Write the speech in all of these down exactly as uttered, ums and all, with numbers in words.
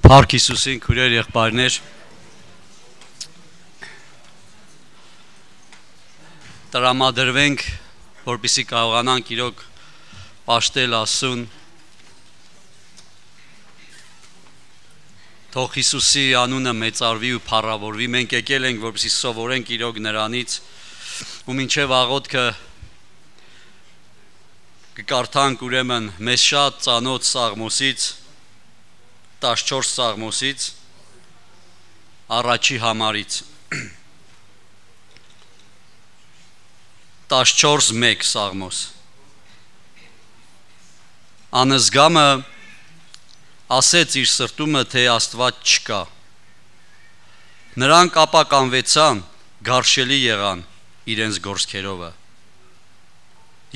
Փառք Հիսուսին, քույրեր, եղբայրներ, տրամադրվենք, որպեսզի կարողանանք իրոք պաշտել Աստծուն, թող Հիսուսի անունը մեծարվի ու փառավորվի, մենք եկել ենք, որպեսզի սովորենք իրոք նրանից, ու մինչև աղոթքը կկարդանք ուրեմն մեզ շատ ծանոթ Սաղմոսից, տասնչորս Սաղմոսից, առաջի համարից, տասնչորս մեկ Սաղմոս։ Անզգամը ասեց իր սրտումը, թե Աստված չկա։ Նրանք ապականվեցան, գարշելի եղան իրենց գործքերովը,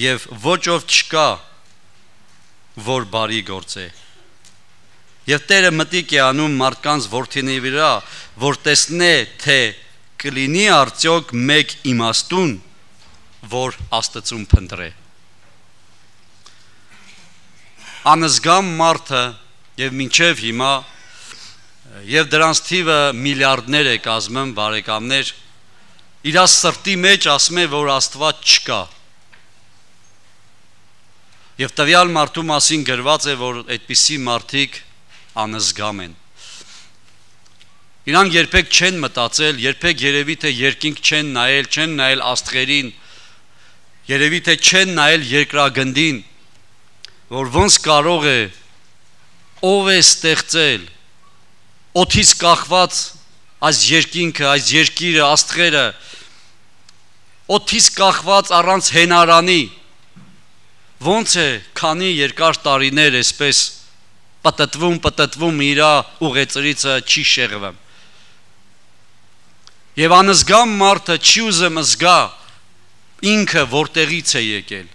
և ոչ ով չկա, որ բարի գործե։ Եվ Տերը մտիկ է անում մարդկանց որդիների վրա, որ տեսնե, թե կլինի արդյոք մեկ իմաստուն, որ Աստծուն փնտրե։ Անզգամ մարդը եւ մինչև հիմա եւ դրանց թիվը միլիարդներ է կազմում, բարեկամներ, իր սրտի մեջ ասում է, որ Աստված չկա։ Եվ տվյալ մարդու մասին գրված է, որ այդպիսի մարդիկ անզգամ են։ Իրանք երբեք չեն մտածել, երբեք երևի թե երկինք չեն նայել, չեն նայել աստղերին, երևի թե չեն նայել երկրագնդին, որ ոնց կարող է, ով է ստեղծել, օդից կախված այս երկինքը, այս երկիրը, աստղերը, օդից կախված առանց հենարանի, ոնց է, քանի երկար տարիներ էսպես պտտվում, պտտվում իրա ուղեծրիցը չի շեղվում։ Եվ անզգամ մարդը չի ուզում զգա ինքը որտեղից է եկել։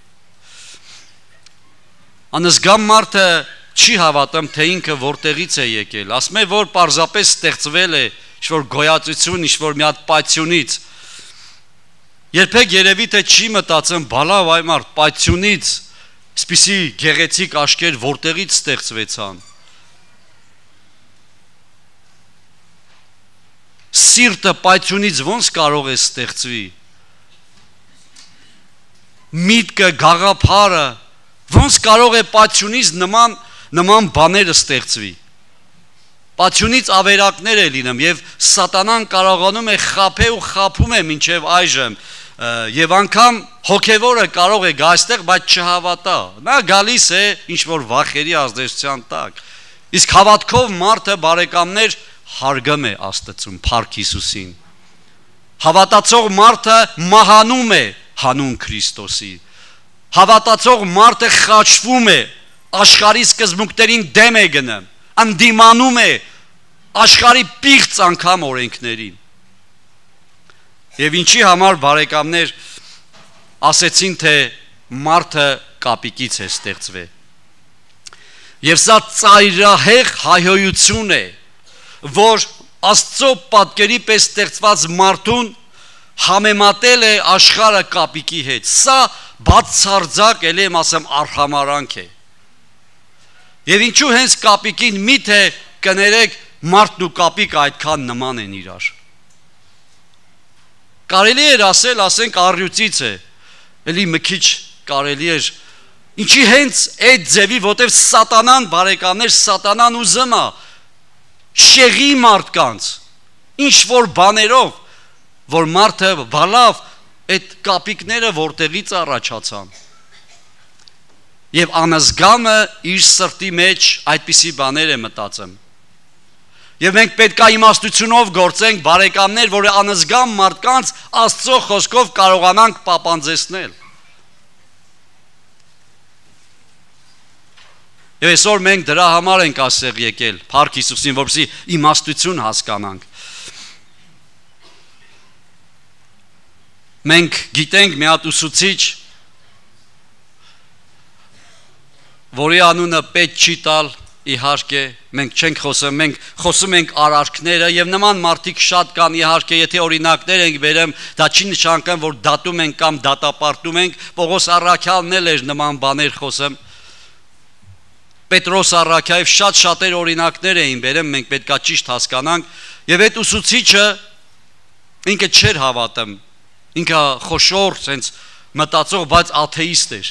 Անզգամ մարդը չի հավատում, թե ինքը որտեղից է եկել։ Ասում է, որ պարզապես ստեղծվել է ինչ-որ գոյացություն, ինչ-որ մի հատ պայթյունից։ Երբեք երևի թե չի մտածում, բալավ այ մարդ, պայթյունից Սպիսի գեղեցիկ աշկեր որտեղից ստեղծվեցան։ Սիրտը պայթյունից ոնց կարող է ստեղծվի։ Միտքը, գաղափարը ոնց կարող է պայթյունից նման նման բաները ստեղծվի։ Պայթյունից ավերակներ է լինում եւ սատանան կարողանում է խաբել ու խաբում է մինչև այժմ։ Եվ անգամ հոգևորը կարող է գա այստեղ, բայց չհավատա։ Նա գալիս է ինչ-որ վախերի ազդեցության տակ։ Իսկ հավատքով մարդը, բարեկամներ, հարգում է Աստծուն, փառք Հիսուսին։ Հավատացող մարդը մահանում է հանուն Քրիստոսի։ Հավատացող մարդը խաչվում է, աշխարհի սկզբունքներին դեմ է գնում, ընդդիմանում է աշխարհի պիղծ անգամ օրենքներին։ Եվ ինչի համար, բարեկամներ, ասեցին, թե մարդը կապիկից է ստեղծվել։ Եվ սա ծայրահեղ հայհոյություն է, որ Աստծո պատկերի պես ստեղծված մարդուն համեմատել է աշխարհը կապիկի հետ։ Սա բացարձակ, ելի եմ ասեմ, արհամարանք է։ Եվ ինչու հենց կապիկին միթե կներեք մարդն ու կապիկ այդքան նման են իրար։ Կարելի էր ասել, ասենք առյուծից է, էլի մի քիչ կարելի էր, ինչի հենց այդ ձևի, որտև սատանան, բարեկամներ, սատանան ուզում է շեղի մարդկանց, ինչ-որ բաներով, որ մարդը բալավ այդ կապիկները որտեղից առաջացան։ Եվ անզգամը իր սրտի մեջ այդպիսի բաներ է մտածում։ Եվ մենք պետք է իմաստությունով գործենք, բարեկամներ, որ անզգամ մարդկանց Աստծո խոսքով կարողանանք պապանձեցնել։ Եվ այսօր մենք դրա համար ենք ասեղ եկել, փառք Հիսուսին, որպեսզի իմաստություն հասկանանք։ Մենք գիտենք մի հատ ուսուցիչ, որի անունը պետք չի տալ, իհարկե, մենք չենք խոսում, մենք խոսում ենք արարքները եւ նման մարդիկ շատ կան, իհարկե, եթե օրինակներ ենք վերեմ, դա չի նշանակում, որ դատում ենք կամ դատապարտում ենք, Պողոս առաքյալն էլ էր նման բաներ խոսում։ Պետրոս առաքյալով շատ շատեր օրինակներ էին բերում, մենք պետքա ճիշտ հասկանանք, եւ այդ ուսուցիչը ինքը չէր հավատում, ինքը խոշոր, sense մտածող, բայց աթեիստ էր։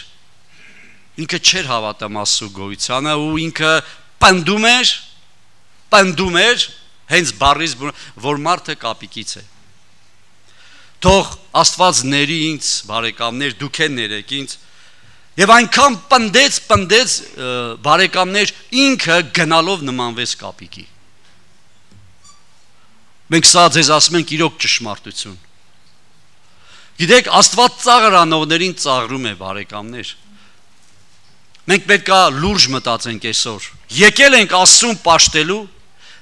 Ինքը չէր հավատում Աստծո գոյությանը ու ինքը պնդում էր, պնդում էր, հենց բառից, որ մարդը կապիկից է։ Թող Աստված ների ինձ, բարեկամներ, դուք են ներեք ինձ, եւ այնքան պնդեց, պնդեց բարեկամներ, ինքը գնալով նմանվեց կապիկի։ Մենք սա ձեզ ասում ենք իրոք ճշմարտություն։ Գիտեք, Աստված ծաղր անողներին ծաղրում է, բարեկամներ։ Մենք պետք է լուրջ մտածենք այսօր։ Եկել ենք Աստծուն պաշտելու,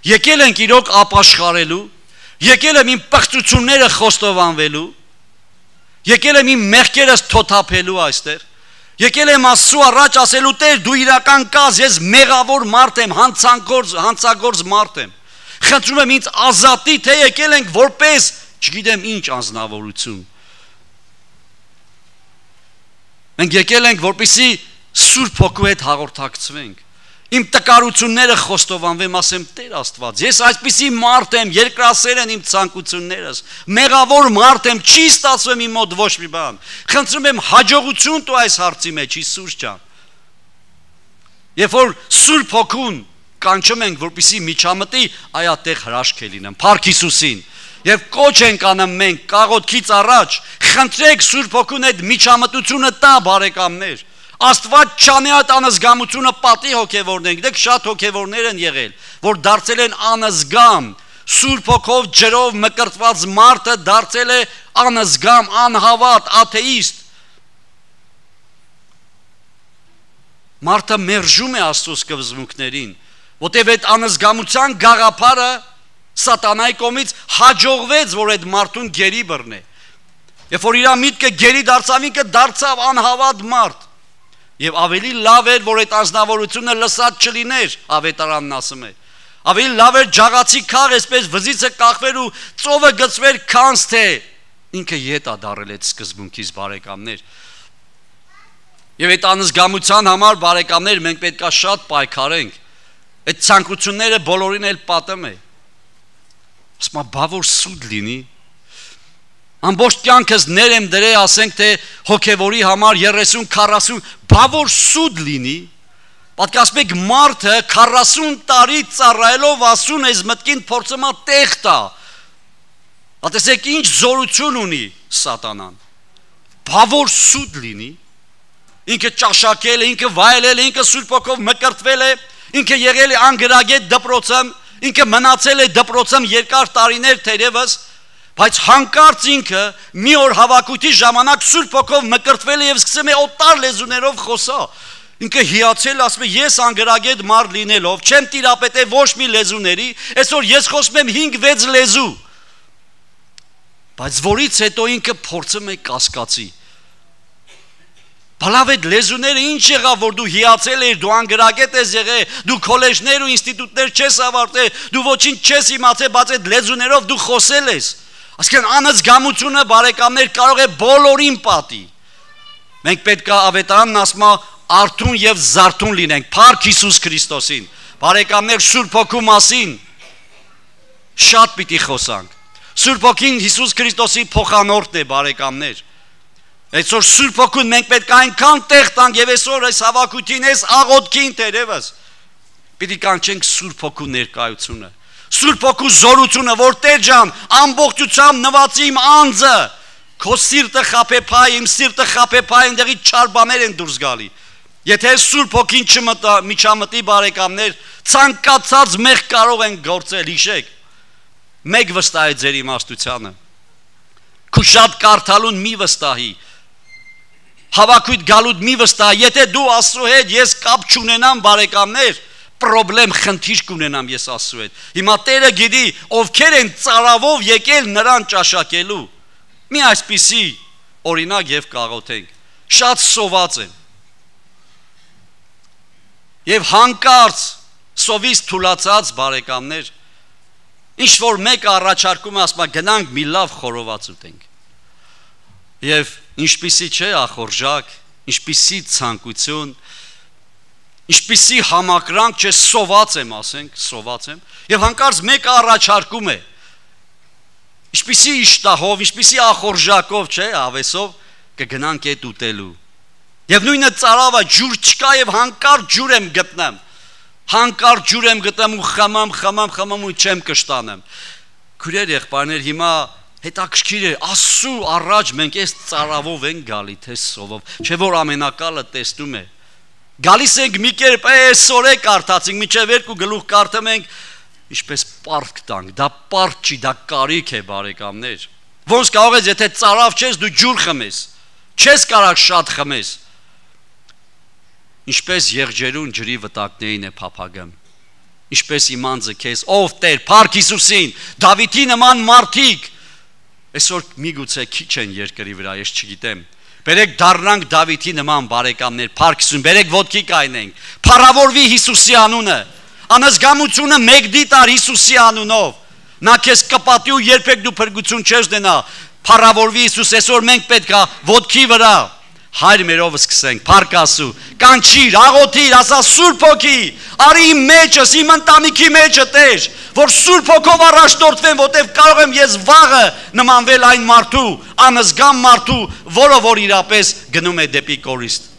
եկել ենք իրոք ապաշխարելու, եկել եմ իմ պղծությունները խոստովանվելու, եկել եմ իմ մեղքերս թոթափելու այստեղ, եկել եմ Աստծու առաջ ասելու Տեր, դու իրական կաս, ես մեղավոր մարդ եմ, հանցագործ, հանցագործ մարդ եմ։ Խնդրում եմ ինձ ազատի, թե եկել ենք որպես, չգիտեմ ինչ անձնավորություն։ Մենք եկել ենք, որպեսզի Սուրբ Հոգու հետ հաղորդակցվենք։ Իմ տկարությունները խոստովանվեմ, ասեմ Տեր Աստված, ես այսպիսի մարդ եմ, երկրասեր են իմ ցանկություններս, մեղավոր մարդ եմ, չի ստացվում իմ մոտ ոչ մի բան։ Խնդրում եմ հաջողություն տու այս հարցի մեջ, Հիսուս ջան։ Երբ որ Սուրբ Հոգուն կանչում ենք, որպեսզի միջամտի, այատեղ հրաշք է լինում, Փառք Հիսուսին։ Եվ կոչ ենք անում մենք կաղոթքից առաջ, խնդրեք Սուրբ Հոգուն այդ միջամտությունը տա, բարեկամներ։ Աստված չանի այդ անզգամությունը պատի հոգևորնենք, դեք շատ հոգևորներ են եղել, որ դարձել են անզգամ, Սուրբ Հոգով ջրով մկրտված մարդը դարձել է անզգամ, անհավատ, աթեիստ։ Մարդը մերժում է Աստծո սկզբունքներին, որտեղ այդ անզգամության գաղափարը Սատանայի կողմից հաջողվեց, որ այդ մարդուն գերի բռնե։ Երբ որ իր միտքը գերի դարձավ, ինքը դարձավ անհավատ մարդ։ Եվ ավելի լավ էր, որ այդ անձնավորությունը լսած չլիներ, ավետարանն ասում է։ Ավելի լավ էր ջաղացի քաղ, այսպես վզիցը կախվեր ու ծովը գծվեր, քանց թե ինքը յետա դարել այդ սկզբունքից, բարեկամներ։ Եվ այդ անզգամության համար, բարեկամներ, մենք պետք է շատ պայքարենք։ Այդ ցանկությունները բոլորին էլ պատում է։ Ասում բա որ սուտ լինի։ Ամբողջ կյանքս ներ եմ դրել, ասենք թե հոգևորի համար երեսուն քառասուն, բա որ սուտ լինի։ Պատկասպեք մարդը քառասուն տարի ծառայելով ասուն այս մտքին փորձում է տեղ տա։ Ատեսեք ինչ զորություն ունի Սատանան։ Բա որ սուտ լինի։ Ինքը ճաշակել է, ինքը վայելել է, ինքը Սուրբ Հոգով մկրտվել է, ինքը եղել է անգրագետ դպրոցում, ինքը մնացել է դպրոցում երկար տարիներ թերևս, բայց հանկարծ ինքը մի օր հավաքույթի ժամանակ Սուրբ Հոգով մկրտվել է եւ սկսում է օտար լեզուներով խոսալ։ Ինքը հիացել, ասում է ես անգրագետ մարդ լինելով չեմ տիրապետել ոչ մի լեզուների, այսօր ես խոսում եմ հինգ վեց լեզու։ Բայց որից հետո ինքը փորձում է կասկածի։ Բալավ այդ լեզուները ինչ եղավ, որ դու հիացել ես, դու անգրագետ ես եղել, դու քոլեջներ ու ինստիտուտներ չես ավարտել, դու ոչինչ չես իմացել, բայց այդ լեզուներով դու խոսել ես։ Այսինքն անզգամությունը, բարեկամներ, կարող է բոլորին պատի։ Մենք պետք է ավետարանն ասում է արթուն եւ զարթուն լինենք, Փառք Հիսուս Քրիստոսին։ Բարեկամներ, Սուրբ Հոգու մասին շատ պիտի խոսանք։ Սուրբ Հոգին Հիսուս Քրիստոսի փոխանորդն է, բարեկամներ։ Այսօր Սուրբ Հոգուն մենք պետք է այնքան տեղ տանք եւ այսօր այս հավաքույթին, այս աղոթքին տերևս պիտի կանչենք Սուրբ Հոգու ներկայությունը, Սուրբ Հոգու զորությունը, որ Տեր ջան, ամբողջությամբ նվացի իմ անձը, քո սիրտը խաբեփայ, իմ սիրտը խաբեփայ, այնտեղից չար բաներ են դուրս գալի։ Եթե Սուրբ Հոգին չմտա, միջամտի, բարեկամներ, ցանկացած մեղ կարող են գործել, հիշեք։ Մեկ վստահ է ձեր իմաստությանը։ Քու շատ կարդալուն մի վստահի։ Հավաքույթ գալուդ մի վստահ, եթե դու Աստծո հետ ես կապ չունենամ, բարեկամներ, պրոբլեմ, խնդիր կունենամ ես Աստծո հետ։ Հիմա Տերը գիտի, ովքեր են ծարավով եկել նրան ճաշակելու։ Մի այսպիսի օրինակ եւ կաղոթենք։ Շատ սոված են։ Եվ հանկարծ սովից թուլացած, բարեկամներ, ինչ որ մեկը առաջարկում է, ասում է գնանք մի լավ խորոված ուտենք։ Եվ ինչպիսի չէ ախորժակ, ինչպիսի ցանկություն, Ինչպիսի համակրանք չէ, սոված եմ, ասենք, սոված եմ, եւ հանկարծ մեկը առաջարկում է, ինչպիսի իշտահով, ինչպիսի ախորժակով, չէ, ավեսով կգնանք այդ ուտելու։ Եվ նույնը ծարավը ջուր չկա եւ հանկարծ ջուր եմ գտնեմ, հանկարծ ջուր եմ գտնեմ ու խմամ, խմամ, խմամ ու չեմ կշտանեմ։ Քույրեր, եղբայրներ, հիմա հետաքրքիր է, Աստծու առաջ մենք այս ծարավով ենք գալի, թե սովով, չէ որ ամենակալը տեսնում է։ Գալիս ենք մի կերպ, այսօր է կարդացինք, միջև երկու գլուխ կարդում ենք, ինչպես պարկ տանք, դա պարկ չի, դա կարիք է, բարեկամներ։ Ոնց կարող ես, եթե ծարավ չես, դու ջուր խմես, չես կարող շատ խմես։ Ինչպես եղջերուն ջրի վտակներին է փափագում, ինչպես իման ձգես, ով Տեր, փառք Հիսուսին, Դավիթի նման մարդիկ, այսօր միգուցե քիչ են երկրի վրա, ես չգիտեմ։ Բերեք դառնանք Դավիթի նման բարեկամներ, փառք Հիսուսին, բերեք ոտքի կայնենք, փառավորվի Հիսուսի անունը, անզգամությունը մեկ դիտար Հիսուսի անունով, նա քեզ կպատի ու երբեք դու փրկություն չես դենա, փառավորվի Հիսուս, այսօր մենք պետք է ոտքի վրա Հայր մերով սկսենք, փառք Աստծո, կանչիր, աղոթիր, ասա Սուրբ Հոգի, արի իմ մեջս, իմ ընտանիքի մեջը Տեր, որ Սուրբ Հոգով առաջնորդվեմ, որտեղ կարող եմ ես վաղը նմանվել այն մարդու, անզգամ մարդու, որը որ իրապես գնում է դեպի կորիստ։